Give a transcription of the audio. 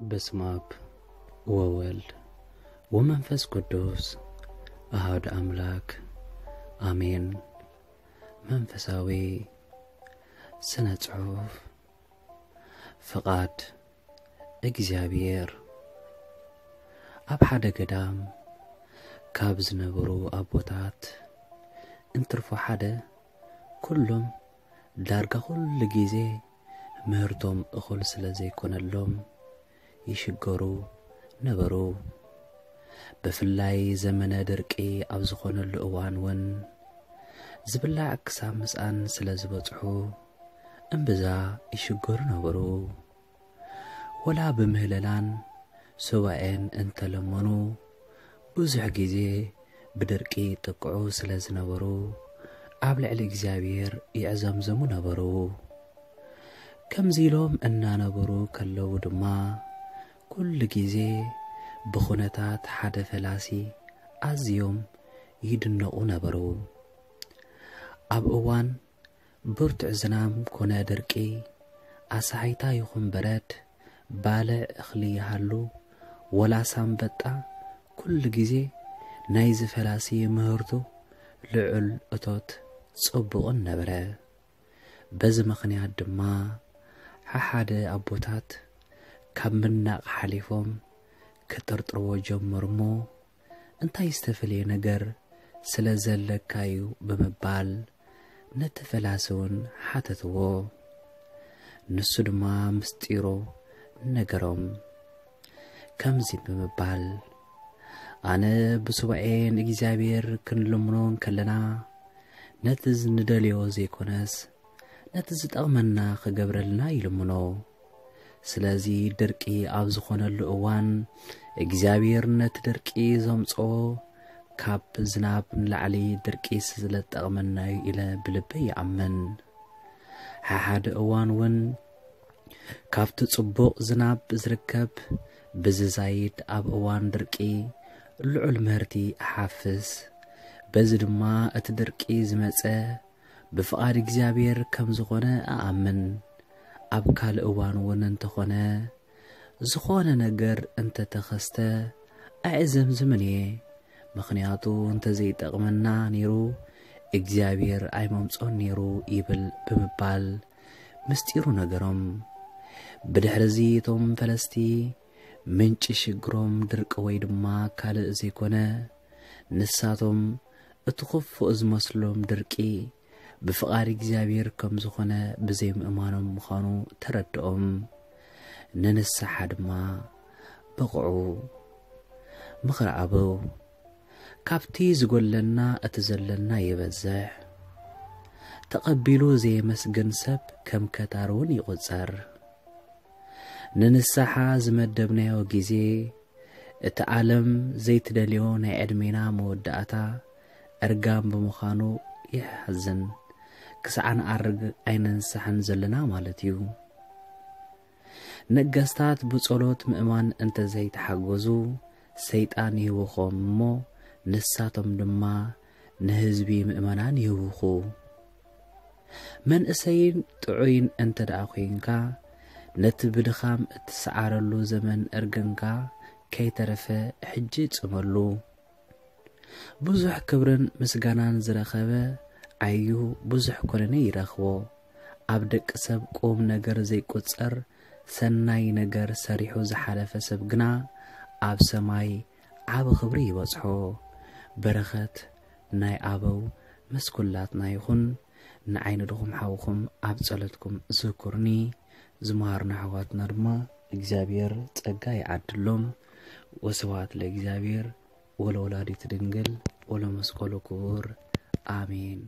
በስመ አብ ወወልድ ወመንፈስ ቅዱስ አሐዱ አምላክ አሜን። መንፈሳዊ ስነ ጽሑፍ። ፍቓድ እግዚኣብሔር። ኣብ ሓደ ገዳም ካብ ዝነበሩ ኣቦታት እንትርፎ ሓደ፣ ኩሎም ዳርጋ ኩሉ ግዜ ምህርቶም እኹል ስለ ዘይኮነሎም ይሽገሩ ነበሩ። ብፍላይ ዘመነ ድርቂ ኣብ ዝኾነሉ እዋን እውን ዝብላዕ ክሳብ ምስኣን ስለ ዝበጽሑ እምብዛ ይሽገሩ ነበሩ። ወላ ብምህለላን ሱባኤን እንተለመኑ ብዙሕ ግዜ ብድርቂ ይጥቅዑ ስለ ዝነበሩ ኣብ ልዕሊ እግዚኣብሔር ይዕዘምዝሙ ነበሩ። ከምዚ ኢሎም እናነበሩ ከለዉ ድማ ኩሉ ግዜ ብኹነታት ሓደ ፈላሲ ኣዝዮም ይድነቑ ነበሩ። ኣብ እዋን ብርቱዕ ዝናም ኮነ ድርቂ፣ ኣሳሒታ ይኹን በረድ፣ ባልዕ እኽሊ ይሃሉ ወላስ ኣንበጣ፣ ኩሉ ግዜ ናይዚ ፈላሲ ምህርቱ ልዑል እቶት ጽቡቕን ነበረ። በዚ ምኽንያት ድማ ሓሓደ ኣቦታት ካብ ምናቕ ሓሊፎም ክጥርጥርዎ ጀመሩ እሞ፣ እንታይ ዝተፈልየ ነገር ስለ ዘለካ እዩ ብምባል ነቲ ፈላሲ እውን ሓተትዎ። ንሱ ድማ ምስጢሩ ነገሮም። ከምዚ ብምባል፣ ኣነ ብሱባኤ ንእግዚኣብሔር ክንልምኖ እንከለና፣ ነቲ ንደልዮ ዘይኮነስ፣ ነቲ ዝጠቕመና ክገብረልና ይልምኖ። ስለዚ ድርቂ ኣብ ዝኾነሉ እዋን እግዚኣብሔር ነቲ ድርቂ ዘምጽኦ ካብ ዝናብ ንላዕሊ ድርቂ ስለ ዝጠቕመና እዩ ኢለ ብልበይ ይኣምን። ሓሓደ እዋን እውን ካብቲ ጽቡቕ ዝናብ ዝርከብ ብዝዛይድ ኣብ እዋን ድርቂ ልዑል ምህርቲ እሓፍስ። በዚ ድማ እቲ ድርቂ ዝመጸ ብፍቓድ እግዚኣብሔር ከም ዝኾነ እኣምን። ኣብ ካልእ እዋን እውን እንተኾነ ዝኾነ ነገር እንተተኸስተ ኣይዕዘምዝምን እየ፣ ምኽንያቱ እንተዘይጠቕመና ነይሩ እግዚኣብሔር ኣይመምጾን ነይሩ ይብል ብምባል ምስጢሩ ነገሮም። ብድሕርዚ እቶም ፈለስቲ ምንጪ ሽግሮም ድርቂ ወይ ድማ ካልእ ዘይኮነ ንሳቶም እቲ ክፉእ ዝመስሎም ድርቂ ብፍቓድ እግዚኣብሔር ከም ዝኾነ ብዘይምእማኖም ምዃኑ ተረድኦም። ንንስሓ ድማ በቕዑ። ምኽሪ ኣበው፣ ካብቲ ዝጎለና እቲ ዘለና ይበዝሕ። ተቐቢሉ ዘየመስግን ሰብ ከም ከታር እውን ይቑጸር። ንንስሓ ዝመደብናዮ ግዜ እቲ ዓለም ዘይትደልዮ ናይ ዕድሜና መወዳእታ እርጋን ብምዃኑ የሕዝን። ክሳዕ ንኣርግ ኣይንንሳሕን ዘለና ማለት እዩ። ነገስታት ብጸሎት ምእማን እንተዘይተሓገዙ ሰይጣን ይህውኾም እሞ ንሳቶም ድማ ንህዝቢ ምእመናን ይህውኹ። መንእሰይን ጥዑይን እንተ ደኣ ኾይንካ፣ ነቲ ብድኻም እትሰዓረሉ ዘመን እርግንካ ከይተረፈ ሕጂ ጽመሉ። ብዙሕ ክብርን ምስጋናን ዝረኸበ ዓዩ ብዙሕ ኮነነ ይረኽቦ። ኣብ ደቂ ሰብ ቁም ነገር ዘይቁጸር ሰናይ ነገር ሰሪሑ ዝሓለፈ ሰብ ግና ኣብ ሰማይ ዓቢ ክብሪ ይበጽሖ። በረኸት ናይ ኣበው ምስ ኩላትና ይኹን። ንዓይ ንድኹም ሓውኹም ኣብ ጸሎትኩም ዝክሩኒ። ዝመሃሩና ኣሕዋትና ድማ እግዚኣብሔር ጸጋ ይዓድሎም። ወስብሐት ለእግዚኣብሔር ወለወላዲቱ ድንግል ወለመስቀሉ ክቡር። ኣሜን።